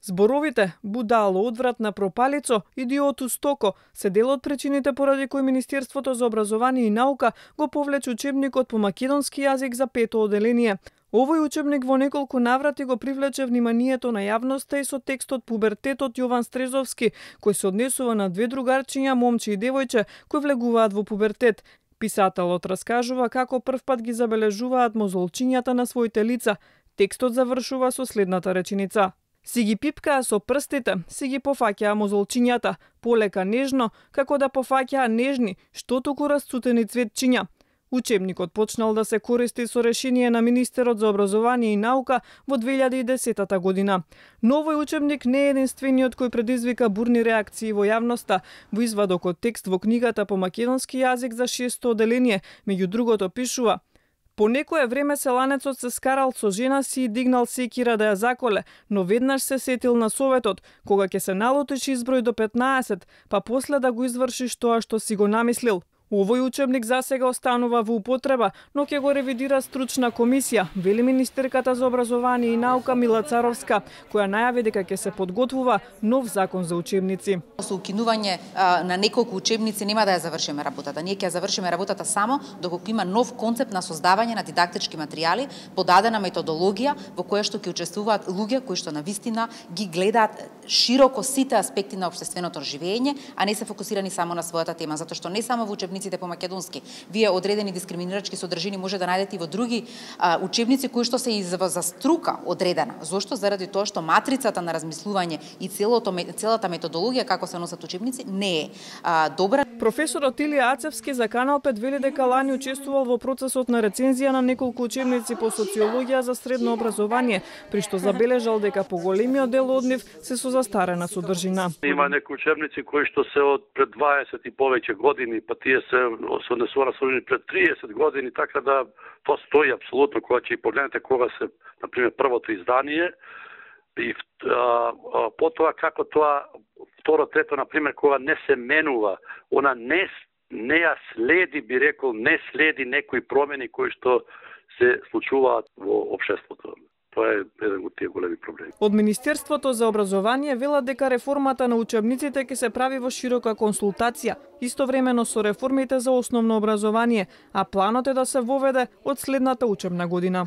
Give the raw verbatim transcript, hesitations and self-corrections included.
Зборовите будало, одвратна пропалицо, идиоту стоко се дел од причините поради кои Министерството за образование и наука го повлече учебникот по македонски јазик за пето оделение. Овој учебник во неколку наврати го привлече вниманието на јавноста и со текстот Пубертетот Јован Стрезовски, кој се однесува на две другарчиња, момче и девојче, кои влегуваат во пубертет. Писателот раскажува како првпат ги забележуваат мозолчињата на своите лица. Текстот завршува со следната реченица: си ги пипкаа со прстите, си ги пофаќаа мозолчињата, полека нежно, како да пофаќаа нежни, што туку расцутени цветчиња. Учебникот почнал да се користи со решение на Министерот за образование и наука во две илјади и десета година. Но овој учебник не е единствениот кој предизвика бурни реакции во јавноста. Во извадокот текст во книгата по македонски јазик за шесто оделение, меѓу другото пишува: по некое време селанецот се скарал со жена си и дигнал секира да ја заколе, но веднаш се сетил на советот, кога ќе се налутиш изброј до петнаесет, па после да го извршиш тоа што си го намислил. Овој учебник засега останува во употреба, но ќе го ревидира стручна комисија, вели министерката за образование и наука Мила Царовска, која најави дека ќе се подготвува нов закон за учебници. Со укинување а, на неколку учебници нема да ја завршиме работата. Ние ќе ја завршиме работата само доколку има нов концепт на создавање на дидактички материјали, подадена методологија во која што ќе учествуваат луѓе кои што навистина ги гледаат широко сите аспекти на општественото живење, а не се фокусирани само на својата тема, затоа што не само во учебниците по македонски, вие одредени дискриминирачки содржини може да најдете и во други а, учебници кои што се и за, за струка одредена. Зошто? Заради тоа што матрицата на размислување и целото, целата методологија како се носат учебници не е а, добра. Професорот Илија Ацевски за Канал пет вели дека лани учествувал во процесот на рецензија на неколку учебници по социологија за средно образование, при што забележал дека поголемиот дел од нив се со застарена содржина. Има некои учебници кои што се од пред дваесет и повеќе години, па тие се се однесува на пред триесет години, така да тоа стои апсолутно кога ќе погледнете кога се, на пример, првото издание и а, а, потоа како тоа второ, трето, на пример, кога не се менува, она не не ја следи, би рекол, не следи некои промени кои што се случуваат во општеството. Тоа е еден од тие големи проблеми. Од Министерството за образование велат дека реформата на учебниците ќе се прави во широка консултација, истовремено со реформите за основно образование, а планот е да се воведе од следната учебна година.